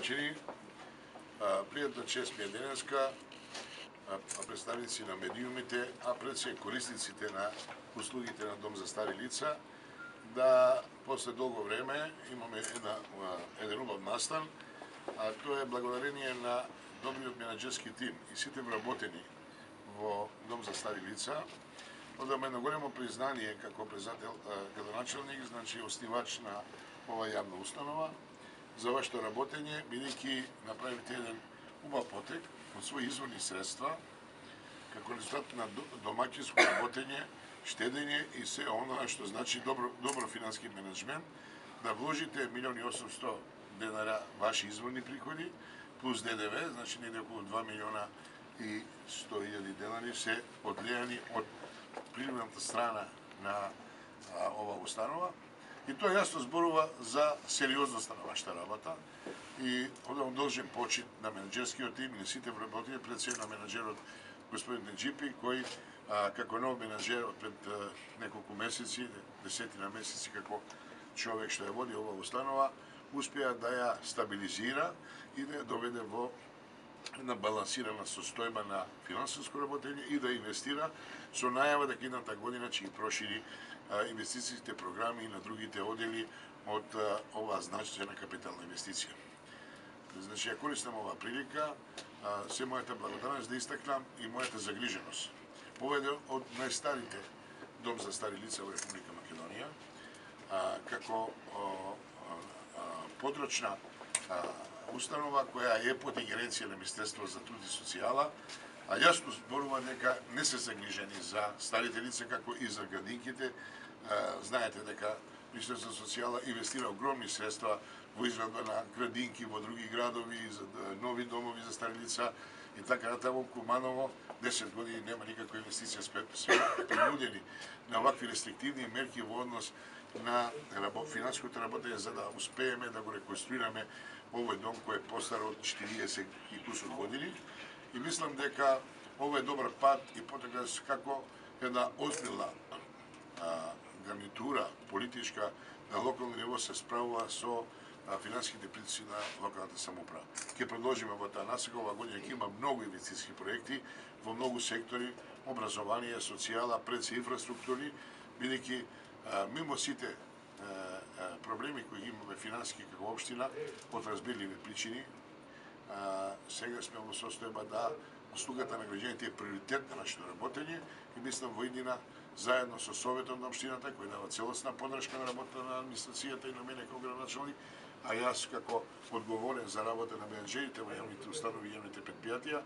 домаќини, пријатна чест ми е денеска, представници на медиумите, а пред се корисниците на услугите на Дом за стари лица, да после долго време имаме еден убав настан, а тоа е благодарение на добриот менаџерски тим и сите вработени во Дом за стари лица. Одам едно големо признание како председател, градоначелник, значи основач на ова јавна установа, за вашето работење, бидејќи направите еден убав потек од своји изворни средства, како резултат на домаќинско работење, штедење и се оно што значи добро финански менеджмент, да вложите 1.800.000 денара ваши изворни приходи, плюс ДДВ, значи неде околу 2.100.000 денари се одлејани од приливната страна на ова установа. И тоа јасно зборува за сериозноста на вашата работа и одам должен почит на менеџерскиот тим и на сите вработени, пред се на менеџерот господин Неджипи, кој како нов менеџер од пред неколку месеци, десетина месеци како човек што ја води ова установа, успеа да ја стабилизира и да ја доведе во една балансирана состојба на финансиско работење и да инвестира со најава дека идната година ќе ги прошири инвестициите програми и на другите одели од оваа значајна капитална инвестиција. Значи, ја користам оваа прилика, се мојата благодарност да истакнам и мојата загриженост. Ова е од најстарите Дом за стари лица во Република Македонија, како подрочна установа која е под ингеренција на Министерство за труд и социјала, а јасно зборува дека не се загрижени за старите лица, како и за градинките. Знаете дека Министерство за социјала инвестира огромни средства во изградба на градинки во други градови, за нови домови за стари лица и така натаму. Куманово 10 години нема никаква инвестиција, сме принудени на вакви рестриктивни мерки во однос на финансиското работење за да успееме да го реконструираме овој дом кој е постар од 40 и кусур години. И мислам дека ова е добар пат и потека како една озбилна гарнитура политичка на локално ниво се справува со финансиските притиски на локалната самоуправа. Ќе продолжиме во таа насока. Ова година ќе има многу инвестициски проекти во многу сектори, образование, социјала, пред се инфраструктури, бидејќи мимо сите проблеми кои имаме финансиски како општина од разбирливи причини, сега сме во состојба да услугата на граѓаните е приоритет на нашето работење и мислам во иднина заедно со Советот на општината кој дава целосна подршка на работата на администрацијата и на мене како градоначелник, а јас како одговорен за работа на менеџерите во јавните установи и јавните предпријатија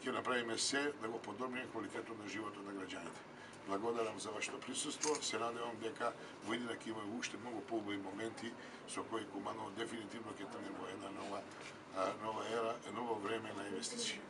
ќе направиме се да го подобриме квалитетот на животот на граѓаните. Благодарам за вашето присуство, се надевам дека во иднина ќе има уште многу поубави моменти со кои Куманово дефинитивно ќе тргне во една нова ера, ново време на инвестиции.